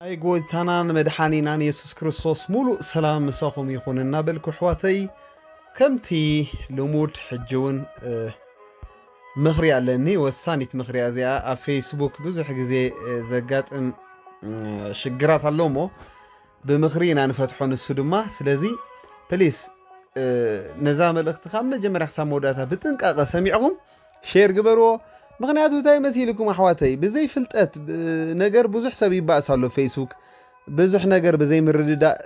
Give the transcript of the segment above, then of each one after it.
ናይ ጎይታናን መድሓኒናን የሱስ ክርስቶስ ሙሉእ ሰላም ምሳኹም ይኹን እናበልኩ ኣሕዋተይ፣ ከምቲ ልሙድ ሕጂ እውን ምኽሪ ኣለኒ። ወሳኒት ምኽሪ እዚኣ ኣብ ፌስቡክ ብዙሕ ግዜ ዘጋጥም ሽግራት ኣሎ እሞ ብምኽሪ ኢና ንፈትሖ። ንሱ ድማ ስለዚ ፕሊስ ነዛ መልእኽቲ ካብ መጀመርያ ክሳብ መወዳእታ ብጥንቃቐ ሰሚዕኹም ሼር ግበርዎ። ምኽንያቱ እንታይ መሲልኩም ኣሕዋተይ፣ ብዘይ ፍልጠት ነገር ብዙሕ ሰብ ይባእስ ኣሎ ፌስቡክ፣ ብዙሕ ነገር ብዘይ ምርድዳእ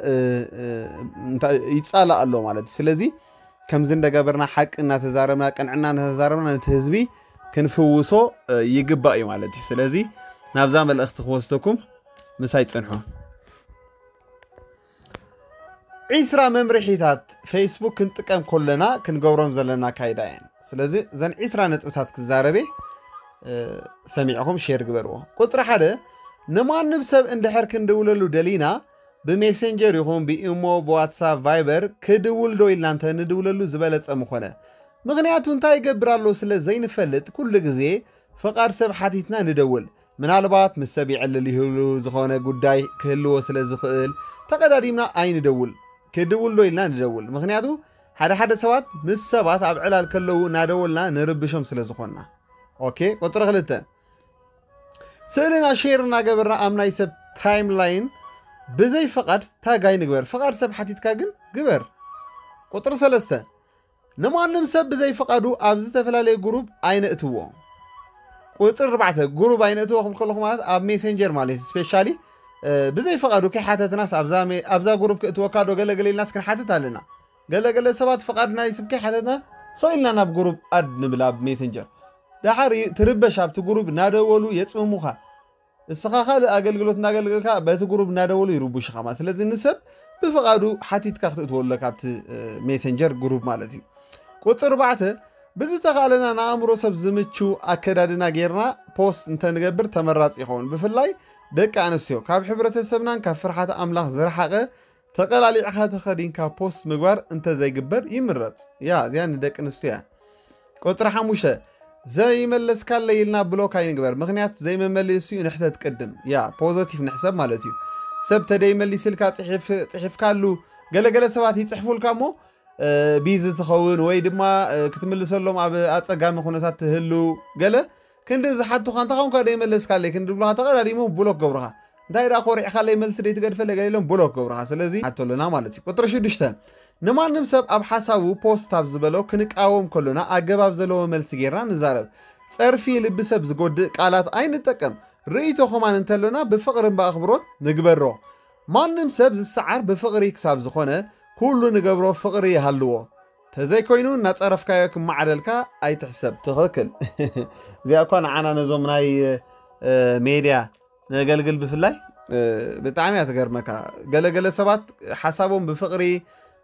ይፃላእ ኣሎ ማለት እዩ። ስለዚ ከምዚ እንደገበርና ሓቂ እናተዛረብና ቅንዕና እናተዛረብና ነቲ ህዝቢ ክንፍውሶ ይግባእ እዩ ማለት እዩ። ስለዚ ናብዛ መልእኽቲ ክወስደኩም ምሳይ ፅንሑ። ዒስራ መምርሒታት ፌስቡክ ክንጥቀም ከለና ክንገብሮም ዘለና ኣካይዳ እየን። ስለዚ እዘን ዒስራ ነጥብታት ክዛረቤ ሰሚዕኹም ሼር ግበርዎ። ቁፅሪ ሓደ፣ ንማንም ሰብ እንድሕር ክንድውለሉ ደሊና ብሜሴንጀር ይኹን ብኢሞ ብዋትሳፕ ቫይበር ክድውል ዶ ኢልና እንተ ንድውለሉ ዝበለፀ ምኾነ። ምኽንያቱ እንታይ ይገብር ኣሎ ስለ ዘይንፈልጥ ኩሉ ግዜ ፍቓድ ሰብ ሓቲትና ንደውል። ምናልባት ምስ ሰብ ይዕልል ይህሉ ዝኾነ ጉዳይ ክህልዎ ስለ ዝኽእል ተቐዳዲምና ኣይንደውል። ክድውል ዶ ኢልና ንደውል። ምኽንያቱ ሓደ ሓደ ሰባት ምስ ሰባት ኣብ ዕላል ከለዉ እናደወልና ንርብሾም ስለ ዝኾንና። ኦኬ፣ ቁፅሪ ክልተ፣ ስእልና ሼር እናገበርና ኣብ ናይ ሰብ ታይም ላይን ብዘይ ፍቓድ ታግ ኣይንግበር። ፍቓድ ሰብ ሓቲትካ ግን ግበር። ቁፅሪ ሰለስተ፣ ንማንም ሰብ ብዘይ ፍቓዱ ኣብ ዝተፈላለየ ግሩፕ ኣይነእትዎ። ቁፅሪ ኣርባዕተ፣ ግሩፕ ኣይነእትዎ ክብል ከለኹ ማለት ኣብ ሜሴንጀር ማለት እዩ። ስፔሻሊ ብዘይ ፍቓዱ ከይሓተትናስ ኣብዛ ግሩፕ ክእትወካ ዶ ገለገለ ኢልናስ ክንሓትት ኣለና። ገለገለ ሰባት ፍቓድ ናይ ስብ ከይሓተትና ሰቕ ኢልና ናብ ግሩፕ ኣድ ንብል ኣብ ሜሴንጀር። ደሓር ትርበሽ፣ ኣብቲ ግሩፕ እናደወሉ የፅምሙኻ። እስኻ ካልእ ኣገልግሎት እናገልገልካ በቲ ግሩፕ እናደወሉ ይርቡሽኻ ማለት። ስለዚ ንሰብ ብፍቓዱ ሓቲትካ ክትእትወሉ ኣለካ ኣብቲ ሜሴንጀር ግሩፕ ማለት እዩ። ቁፅሪ ኣርባዕተ፣ ብዝተኻእለና ንኣእምሮ ሰብ ዝምቹ ኣከዳድና ጌርና ፖስት እንተንገብር ተመራፂ ይኸውን። ብፍላይ ደቂ ኣንስትዮ ካብ ሕብረተሰብናን ካብ ፍርሓት ኣምላኽ ዝረሓቐ ተቐላሊዕኻ ተኸዲንካ ፖስት ምግባር እንተዘይግበር ይምረፅ። ያ እዚኣ ንደቂ ኣንስትዮ እያ። ቁፅሪ ሓሙሽተ፣ ዘይመለስካለይ ኢልና ብሎክ ኣይንግበር። ምኽንያት ዘይመመሊሱ እዩ ንሕተት ቅድም። ያ ፖዘቲቭ ንሕሰብ ማለት እዩ። ሰብ ተደይመሊስልካ ፅሒፍካሉ፣ ገለገለ ሰባት ይፅሕፉልካ እሞ ቢዚ ትኸውን ወይ ድማ ክትምልሰሎም ኣብ ኣፀጋሚ ኩነታት ትህሉ ገለ ክንዲ ዝሓቱኻ እንተ ኾንካ ደይመለስካለይ ክንዲ ብሉኻ ተቐዳዲሞም ብሎክ ገብሩኻ። እንታይ ደኣ ኮሪዕካለይ መልሲ ደይትገድፈለይ ገለ ኢሎም ብሎክ ገብሩኻ። ስለዚ ሓቶ ኣለና ማለት እዩ። ቁፅሪ ሽዱሽተ፣ ንማንም ሰብ ኣብ ሓሳቡ ፖስት ኣብ ዝበሎ ክንቃወም ከሎና ኣገባብ ዘለዎ መልሲ ጌርና ንዛረብ። ፀርፊ ልቢ ሰብ ዝጎድእ ቃላት ኣይንጠቀም። ርእይቶ ከማን እንተሎና ብፍቕርን ብኣኽብሮት ንግበሮ። ማንም ሰብ ዝሰዓር ብፍቕሪ ክሳብ ዝኾነ ኩሉ ንገብሮ ፍቕሪ ይሃልዎ። ተዘይኮይኑ እናፀረፍካዮ ክመዓደልካ ኣይትሕሰብ። ትኽክል። እዚኣ እኳ ንዓና ነዞም ናይ ሜድያ ነገልግል ብፍላይ ብጣዕሚ እያ ትገርመካ። ገለገለ ሰባት ሓሳቦም ብፍቕሪ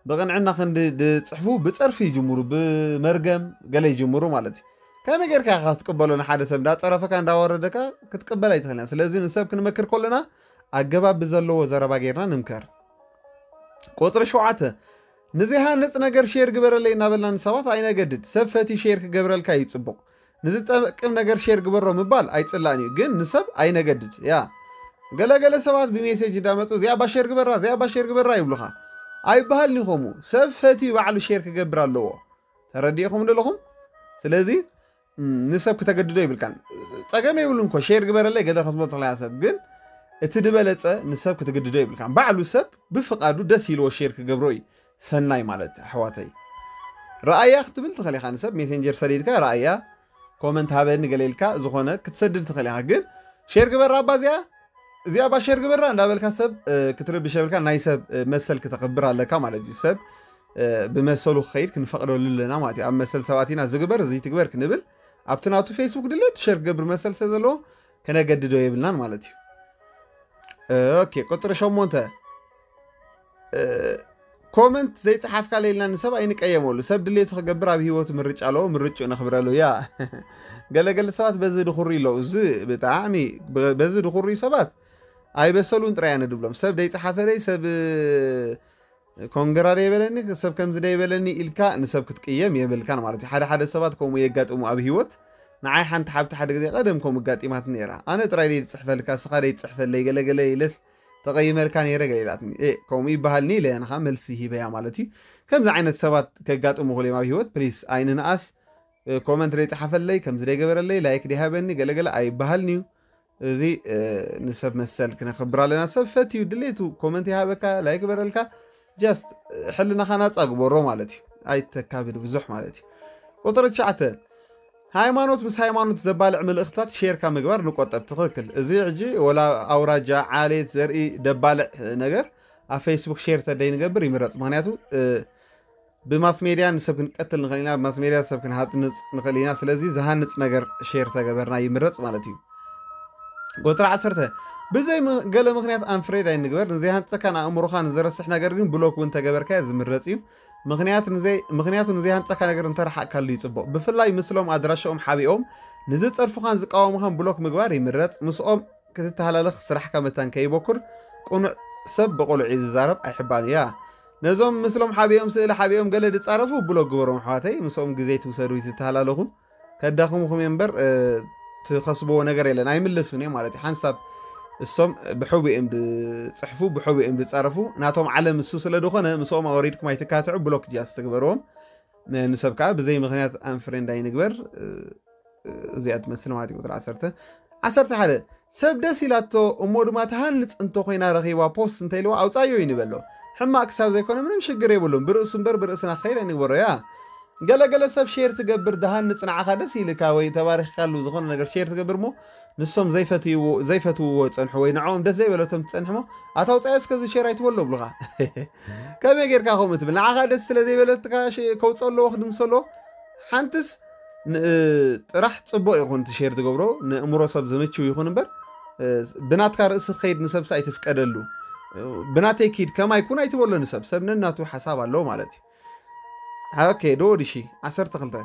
ብቕንዕና ክንዲ ዝፅሕፉ ብፀርፊ ይጅምሩ፣ ብመርገም ገለ ይጅምሩ ማለት እዩ። ከመይ ጌርካ ኢኻ ክትቅበሎ ንሓደ ሰብ እንዳፀረፈካ እንዳወረደካ ክትቅበል ኣይትኽእልን። ስለዚ ንሰብ ክንመክር ከለና ኣገባብ ብዘለዎ ዘረባ ጌርና ንምከር። ቁፅሪ ሸውዓተ፣ ንዘይሃንፅ ነገር ሼር ግበረለይ እናበልና ንሰባት ኣይነገድድ። ሰብ ፈትዩ ሼር ክገብረልካ እዩ ፅቡቕ። ንዝጠቅም ነገር ሼር ግበሮ ምባል ኣይፅላእን እዩ፣ ግን ንሰብ ኣይነገድድ። ያ ገለገለ ሰባት ብሜሴጅ እንዳመፁ እዚኣ ባ ሼር ግበራ፣ እዚኣ ባ ሼር ግበራ ይብሉኻ። ኣይበሃልን እዩ ከምኡ። ሰብ ፈትዩ ባዕሉ ሼር ክገብር ኣለዎ። ተረዲእኹም ዶ ኣለኹም? ስለዚ ንሰብ ክተገድዶ ይብልካን። ፀገም የብሉ እንኮ ሼር ግበረለይ ገለ ክትብሎ ትኽእላ ሰብ፣ ግን እቲ ዝበለፀ ንሰብ ክትግድዶ ይብልካን። ባዕሉ ሰብ ብፍቓዱ ደስ ኢልዎ ሼር ክገብሮ እዩ ሰናይ ማለት ኣሕዋተይ። ረኣያ ክትብል ትኽእል ኢኻ። ንሰብ ሜሴንጀር ሰዲድካ ረኣያ ኮመንት ሃበኒ ገለ ኢልካ ዝኾነ ክትሰድድ ትኽእል ኢኻ። ግን ሼር ግበራ ኣባ እዚኣ እዚኣ ባ ሼር ግበራ እንዳበልካ ሰብ ክትርብሽ የብልካ። ናይ ሰብ መሰል ክተኽብር ኣለካ ማለት እዩ። ሰብ ብመሰሉ ክኸይድ ክንፈቕደሉ ኣለና ማለት እዩ። ኣብ መሰል ሰባት ኢና ዝግበር እዚ ትግበር ክንብል ኣብቲ ናቱ ፌስቡክ ድሌት ሸር ክገብር መሰል ስለ ዘለዎ ከነገድዶ የብልናን ማለት እዩ። ኦኬ፣ ቁፅሪ ሸሞንተ፣ ኮመንት ዘይፀሓፍካ ለይልና ንሰብ ኣይንቀየመሉ። ሰብ ድሌቱ ክገብር ኣብ ህይወቱ ምርጫ ኣለዎ፣ ምርጭኡ ነኽብረሉ። ያ ገለገለ ሰባት በዚ ድኹሪ ኣለዉ። እዚ ብጣዕሚ በዚ ድኹሪ ሰባት ኣይበሰሉን ጥራይ ኣነ ድብሎም። ሰብ ደይፀሓፈለይ፣ ሰብ ኮንግራ ደይበለኒ፣ ሰብ ከምዚ ደይበለኒ ኢልካ ንሰብ ክትቅየም የብልካን ማለት እዩ። ሓደ ሓደ ሰባት ከምኡ የጋጥሙ ኣብ ህይወት። ንዓይ ሓንቲ ሓብቲ ሓደ ግዜ ቀደም ከምኡ ኣጋጢማት ነይራ። ኣነ ጥራይ ደይፅሕፈልካ፣ እስኻ ደይፅሕፈለይ ገለገለ ኢለስ ተቐይመልካ ነይረ ገለ ኢላትኒ። ከምኡ ይበሃልኒ ኢለ ንኻ መልሲ ሂበያ ማለት እዩ። ከምዚ ዓይነት ሰባት ከጋጥሙ ክልዮም ኣብ ህይወት፣ ፕሊስ ኣይንንኣስ። ኮመንት ደይፀሓፈለይ፣ ከምዚ ደይገበረለይ፣ ላይክ ደይሃበኒ ገለገለ ኣይበሃልኒ እዩ። እዚ ንሰብ መሰል ክነኽብር ኣለና። ሰብ ፈትዩ ድሌቱ ኮመንት ይሃበካ፣ ላይክ በረልካ፣ ጃስት ሕልናኻ ናፃ ግበሮ ማለት እዩ። ኣይተካብድ ብዙሕ ማለት እዩ። ቁፅሪ ትሽዓተ፣ ሃይማኖት ምስ ሃይማኖት ዘባልዕ ምልእኽታት ሼርካ ምግባር ንቆጠብ። ትኽክል። እዚ ሕጂ ወላ ኣውራጃ፣ ዓሌት፣ ዘርኢ ደባልዕ ነገር ኣብ ፌስቡክ ሼር ተደይ ንገብር ይምረፅ። ምክንያቱ ብማስ ሜድያ ንሰብ ክንቀትል ንኽእል ኢና፣ ብማስ ሜድያ ሰብ ክንሃንፅ ንኽእል ኢና። ስለዚ ዝሃንፅ ነገር ሼር ተገበርና ይምረፅ ማለት እዩ። ቁፅሪ ዓሰርተ፣ ብዘይ ገለ ምክንያት ኣንፍሬድ ኣይንግበር። ንዘይሃንፀካ ንኣእምሮኻ ንዘረስሕ ነገር ግን ብሎክ እውን ተገበርካዮ ዝምረፅ እዩ። ምክንያቱ ንዘይሃንፀካ ነገር እንተረሓቅካሉ ይፅቡቕ። ብፍላይ ምስሎም ኣድራሻኦም ሓቢኦም ንዝፀርፉኻን ዝቃወሙኻን ብሎክ ምግባር ይምረፅ። ምስኦም ክትተሃላለኽ ስራሕካ መታን ከይበኩር። ቁኑዕ ሰብ ብቁሉዕ እዩ ዝዛረብ ኣይሕባን እያ። ነዞም ምስሎም ሓቢኦም ስእሊ ሓቢኦም ገለ ዝፃረፉ ብሎክ ግበሮም ኣሕዋተይ። ምስኦም ግዜ ትውሰዱ ይትተሃላለኹ ከዳኽሙኹም እምበር ትኸስብዎ ነገር የለን። ኣይምለሱን እዮም ማለት እዩ። ሓንሳብ እሶም ብሕቡ እዮም ዝፅሕፉ፣ ብሕቡ እዮም ዝፃረፉ። ናቶም ዓለም እሱ ስለ ዝኾነ ምስኦም ኣወሪድኩም ኣይትካትዑ፣ ብሎክ ጃስ ትግበርዎም። ንሰብ ከዓ ብዘይ ምክንያት ኣንፍሬንድ ኣይንግበር። እዚኣ ትመስል ማለት እዩ። ቁፅሪ ዓሰርተ፣ ዓሰርተ ሓደ፣ ሰብ ደስ ኢላቶ እሞ ድማ ትሃንፅ እንተኮይና ረኺባ ፖስት እንተኢልዋ ኣውፃዮ ይንበሎ። ሕማቅ ክሳብ ዘይኮነ ምንም ሽግር የብሉን። ብርእሱ እምበር ብርእስና ክኸይድ ኣይንግበሮ እያ። ገለገለ ሰብ ሼር ትገብር ድሃንፅ ንዓኻ ደስ ኢልካ ወይ ተባሪኽካሉ ዝኾነ ነገር ሼር ትገብር እሞ ንሶም ዘይፈትውዎ ዘይፈትውዎ ፀንሑ ወይ ንዕኦም ደስ ዘይበለቶም ትፀንሕ እሞ ኣታ ኣውፃዮ እስከዚ ሼር ኣይትበሎ ብሉኻ። ከመይ ጌርካ ከምኡ ትብል? ንዓኻ ደስ ስለ ዘይበለትካ ከውፅኦ ኣለዎ ክድምሶ ኣለዎ። ሓንትስ ጥራሕ ፅቡቅ ይኹን እቲ ሼር ትገብሮ ንእምሮ ሰብ ዝምችው ይኹን እምበር ብናትካ ርእሲ ክኸይድ ንሰብሲ ኣይትፍቀደሉ። ብናተይ ኪድ ከማይ ኩን ኣይትበሎ ንሰብ። ሰብ ነናቱ ሓሳብ ኣለዎ ማለት እዩ። ኦኬ፣ ዶ ወዲ ሺ ዓሰርተ ክልተ፣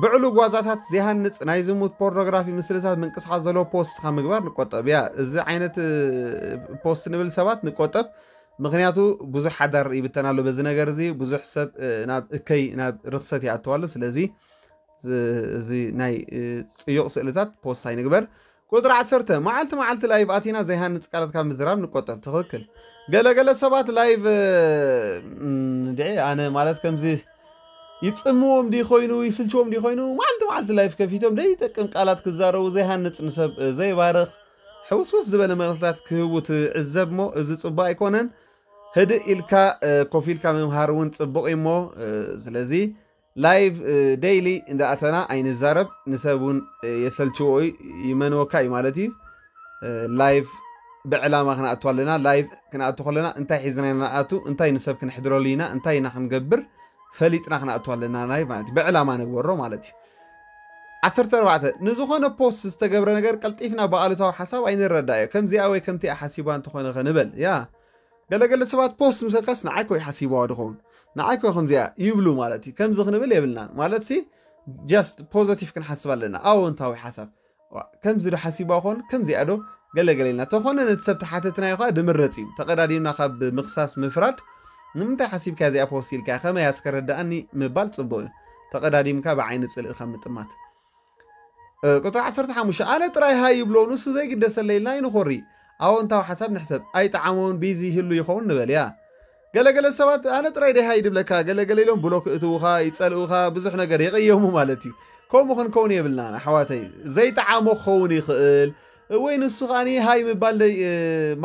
ብዕሉ ጓዛታት ዘይሃንፅ ናይ ዝሙት ፖርኖግራፊ ምስልታት ምንቅስቃስ ዘለዎ ፖስትካ ምግባር ንቆጠብ እያ። እዚ ዓይነት ፖስት ንብል ሰባት ንቆጠብ። ምክንያቱ ብዙሕ ሓዳር ይብተን ኣሎ በዚ ነገር እዚ። ብዙሕ ሰብ ናብ እከይ ናብ ርክሰት ይኣተዋሉ። ስለዚ እዚ ናይ ፅዩቕ ስእልታት ፖስት ኣይንግበር። ቁፅሪ ዓሰርተ፣ መዓልቲ መዓልቲ ላይቭ ኣቲና ዘይሃንፅ ቃላት ካብ ምዝራብ ንቆጠብ። ትኽክል። ገለገለ ሰባት ላይቭ ድዒ ኣነ ማለት ከምዚ ይፅምዎም ድዩ ኮይኑ ይስልችዎም ድዩ ኮይኑ መዓልቲ መዓልቲ ላይቭ ከፊቶም ደይጠቅም ቃላት ክዛረቡ ዘይሃንፅ ንሰብ ዘይባርኽ ሕውስውስ ዝበለ መልእኽትታት ክህቡ ትዕዘብ እሞ እዚ ፅቡቅ ኣይኮነን። ህድእ ኢልካ ኮፍ ኢልካ ምምሃር እውን ፅቡቅ እዩ እሞ ስለዚ ላይቭ ዴይሊ እንዳኣተና ኣይንዛረብ ንሰብ እውን የሰልችዎ እዩ ይመንወካ እዩ ማለት እዩ። ላይቭ ብዕላማ ክንኣቱ ኣለና። ላይቭ ክንኣቱ ከለና እንታይ ሒዝና ኢና ንኣቱ እንታይ ንሰብ ክንሕድረሉ ኢና እንታይ ኢና ክንገብር ፈሊጥና ክንኣቱ ኣለና ናይ ማለት እዩ። ብዕላማ ንግበሮ ማለት እዩ። ዓሰርተ ኣርባዕተ፣ ንዝኾነ ፖስት ዝተገብረ ነገር ቀልጢፍና ብኣሉታዊ ሓሳብ ኣይንረዳእዮ። ከምዚኣ ወይ ከምቲኣ ሓሲባ እንተኾነ ከንበል ያ ገለገለ ሰባት ፖስት ምሰልካስ ንዓይ ኮ ይሓሲብዋ ድኸውን ንዓይ ኮ ከምዚኣ ይብሉ ማለት እዩ። ከምዚ ክንብል የብልና ማለት ሲ ጃስት ፖዘቲቭ ክንሓስብ ኣለና። ኣዎንታዊ ሓሳብ ከምዚ ዶ ሓሲብዋ ኾን ከምዚኣ ዶ ገለገለ ኢልና ተኾነ ነቲ ሰብ ተሓተትናዮ ከዓ ድምረፅ እዩ። ተቐዳዲምና ካብ ምክሳስ ምፍራድ ንምንታይ ሓሲብካ እዚኣ ፖስት ኢልካ ከመይ ኣስከረዳእኒ ምባል ፅቡቅ እዩ። ተቐዳዲምካ ብዓይኒ ፅልኢ ካብ ምጥማት። ቁፅሪ ዓሰርተ ሓሙሽተ ኣነ ጥራይ ሃይ ይብሎ ንሱ ዘይግደሰለይ ኢልና ይንኾሪ። ኣዎንታዊ ሓሳብ ንሕሰብ ኣይጠዓሞን ቢዚ ይህሉ ይኸውን ንበል እያ። ገለገለ ሰባት ኣነ ጥራይ ደይ ሃይ ድብለካ ገለገለ ኢሎም ብሎክ እትውኻ ይፀልኡኻ ብዙሕ ነገር የቀየሙ ማለት እዩ። ከምኡ ክንከውን የብልናን ኣሕዋተይ። ዘይጠዓሞ ክኸውን ይኽእል ወይ ንሱ ከዓኒ ሃይ ምባል ደይ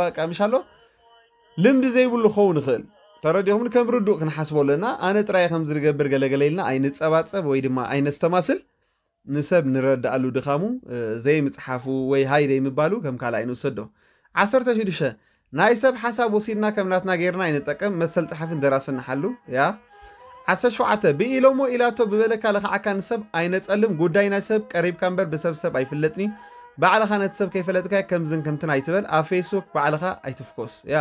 በቃ ምሽ ኣሎ ልምዲ ዘይብሉ ክኸውን ይኽእል። ተረዲኹምኒ ከም ርዱእ ክንሓስቦ ኣለና። ኣነ ጥራይ ከም ዝገብር ገለገለ ኢልና ኣይንፀባፀብ ወይ ድማ ኣይነስተማስል። ንሰብ ንረዳኣሉ ድኻሙ ዘይምፅሓፉ ወይ ሃይ ዘይምባሉ ከም ካልኣይ ንውሰዶ። ዓሰርተ ሽዱሽተ ናይ ሰብ ሓሳብ ወሲድና ከም ናትና ጌርና ኣይንጠቀም። መሰል ፀሓፍን ደራስን ንሓሉ ያ። ዓሰርተ ሸውዓተ ብኢሎሞ ኢላቶ ብበለካ ለኽዓካ ንሰብ ኣይነፀልም። ጉዳይ ናይ ሰብ ቀሪብካ እምበር ብሰብ ሰብ ኣይፍለጥን እዩ። ባዕልኻ ነቲ ሰብ ከይፈለጥካዮ ከምዝን ከምትን ኣይትበል። ኣብ ፌስቡክ ባዕልኻ ኣይትፍኮስ ያ።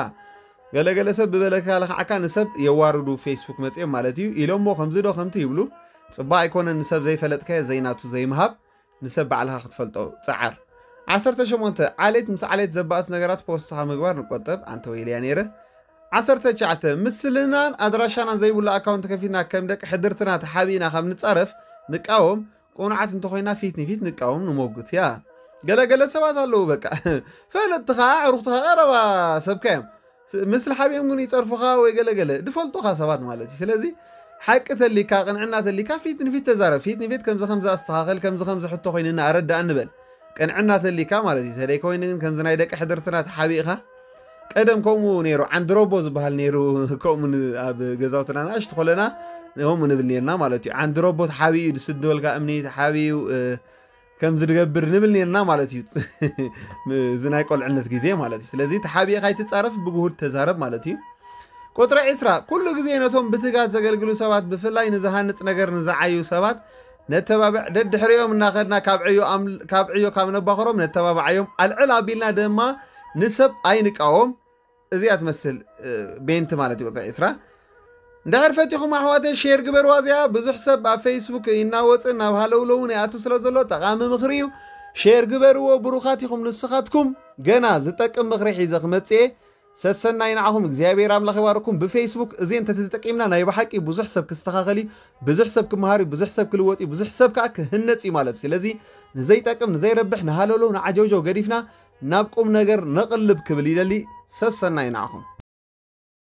ገለገለ ሰብ ብበለካ ለኽዓካ ንሰብ የዋርዱ ፌስቡክ መፅኦም ማለት እዩ። ኢሎሞ ከምዚ ዶ ከምቲ ይብሉ። ፅባቕ ኣይኮነን ንሰብ ዘይፈለጥካዮ ዘይናቱ ዘይምሃብ። ንሰብ ባዕልኻ ክትፈልጦ ፀዓር። ዓሰርተ ሸሞንተ ዓሌት ምስ ዓሌት ዘባእስ ነገራት ፖስትኻ ምግባር ንቆጠብ። ኣንተ ወይለያ ነይረ። ዓሰርተ ትሽዓተ ምስልናን ኣድራሻናን ዘይብሉ ኣካውንት ከፊትና ከም ደቂ ሕድርትና ተሓቢእና ካብ ንፃረፍ ንቃወም። ቁኑዓት እንተኾይና ፊት ንፊት ንቃወም ንሞግት እያ። ገለገለ ሰባት ኣለዉ በቃ ፈለጥትኻ ኣዕሩኽትኻ ቀረባ ሰብካ እዮም። ስ- ምስሊ ሓቢኦም ግን ይፀርፉኻ ወይ ገለገለ ድፈልጡኻ ሰባት ማለት እዩ። ስለዚ ሓቂ ተሊካ ቅንዕና ተሊካ ፊት ንፊት ተዛረብ። ፊት ንፊት ከምዚ ከምዚ ኣስተኻኸል ከምዚ ከምዚ ሕቶ ኮይንና ኣረዳእ ንበል። ቅንዕና ተሊካ ማለት እዩ። ተደይ ኮይኑ ግን ከምዚ ናይ ደቂ ሕድርትና ተሓቢእኻ ቀደም ከምኡ ነይሩ። ዓንድሮቦ ዝበሃል ነይሩ። ከምኡ ን- ኣብ ገዛውትና ንኣሽቱ ኮለና ከምኡ ንብል ነርና ማለት እዩ። ዓንድሮቦ ተሓቢኡ ድስድበልካ እምኒ ተሓቢኡ እ፣ ከምዚ ድገብር ንብል ነርና ማለት እዩ። እዚ ናይ ቆልዕነት ግዜ ማለት እዩ። ስለዚ ተሓቢእካ ኣይትፃረፍ፣ ብግሁድ ተዛረብ ማለት እዩ። ቁፅሪ ዕስራ፣ ኩሉ ግዜ ነቶም ብትጋት ዘገልግሉ ሰባት ብፍላይ ንዝሃንፅ ነገር ንዝዓዩ ሰባት ነተባብዕ። ደድሕሪኦም እናኸድና ካብ ዕዮ ኣም- ካብ ዕዮ ካብ ነባኸሮም ነተባብዓዮም። ኣልዕል ኣቢልና ድማ ንሰብ ኣይንቃወም። እዚኣ ትመስል እ፣ ቤንቲ ማለት እዩ። ቁፅሪ ዕስራ፣ እንድሕር ፈቲኹም ኣሕዋተይ ሼር ግበርዋ። እዚኣ ብዙሕ ሰብ ኣብ ፌስቡክ ይናወፅን ናብ ሃለውለውን ይኣቱ ስለ ዘሎ ጠቓሚ ምኽሪ እዩ። ሼር ግበርዎ። ብሩኻት ኢኹም ንስኻትኩም። ገና ዝጠቅም ምኽሪ ሒዘ ክመፅእ እየ። ሰሰናይ ንዓኹም። እግዚኣብሔር ኣምላኽ ይባርኩም። ብፌስቡክ እዚ እንተተጠቂምና ናይ ብሓቂ ብዙሕ ሰብ ክስተኻኸል እዩ። ብዙሕ ሰብ ክመሃር እዩ። ብዙሕ ሰብ ክልወጥ እዩ። ብዙሕ ሰብ ከዓ ክህነፅ እዩ ማለት እዩ። ስለዚ ንዘይጠቅም ንዘይረብሕ ንሃለውለው ንዓጀውጀው ገዲፍና ናብ ቁም ነገር ነቕልብ ክብል ይደሊ። ሰሰናይ ንዓኹም።